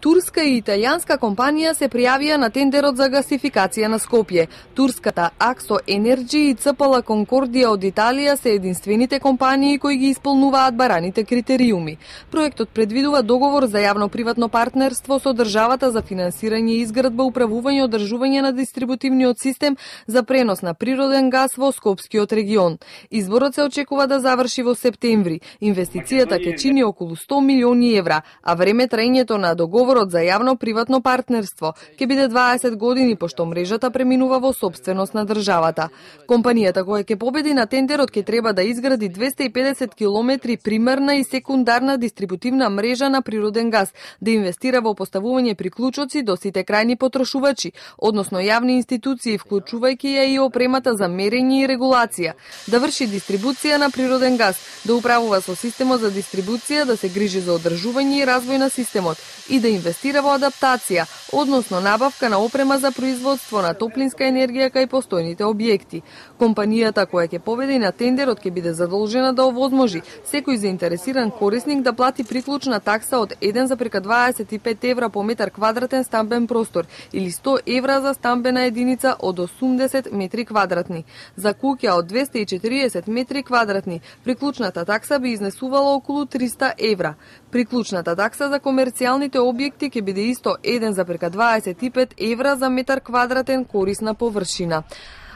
Турска и италијанска компанија се пријавија на тендерот за гасификација на Скопје. Турската Аксо Енерджи и ЦПЛ Конкордија од Италија се единствените компании кои ги исполнуваат бараните критериуми. Проектот предвидува договор за јавно-приватно партнерство со државата за финансирање, изградба, управување и одржување на дистрибутивниот систем за пренос на природен гас во Скопскиот регион. Изборот се очекува да заврши во септември. Инвестицијата ќе чини околу 100 милиони евра, а време траењето на договорот за јавно-приватно партнерство ќе биде 20 години, пошто мрежата преминува во сопственост на државата. Компанијата која ќе победи на тендерот ќе треба да изгради 250 километри примарна и секундарна дистрибутивна мрежа на природен газ, да инвестира во поставување приклучоци до сите крајни потрошувачи, односно јавни институции, вклучувајќи ја и опремата за мерење и регулација, да врши дистрибуција на природен газ, да управува со системот за дистрибуција, да се грижи за одржување и развој на системот и да инвестира во адаптација, односно набавка на опрема за производство на топлинска енергија кај постојните објекти. Компанијата која ќе победи на тендерот ќе биде задолжена да овозможи секој заинтересиран корисник да плати приклучна такса од 1,25 евра по метар квадратен стамбен простор или 100 евра за стамбена единица од 80 метри квадратни. За куќа од 240 метри квадратни приклучната такса би изнесувала околу 300 евра. Приклучната такса за комерцијалните објекти ќе биде исто 1,25 евра за метар квадратен корисна површина.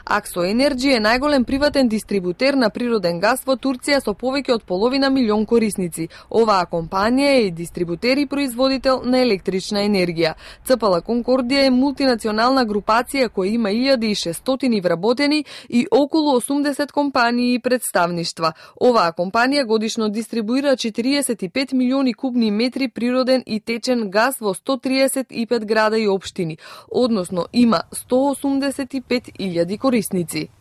Аксо Енерджи е најголем приватен дистрибутер на природен газ во Турција со повеќе од половина милион корисници. Оваа компанија е и дистрибутер и производител на електрична енергија. ЦПЛ Конкордија е мултинационална групација која има 1600 вработени и околу 80 компании и представништва. Оваа компанија годишно дистрибуира 45 милиони кубни метри природен и течен газ во 135 града и општини, односно има 185.000 корисници.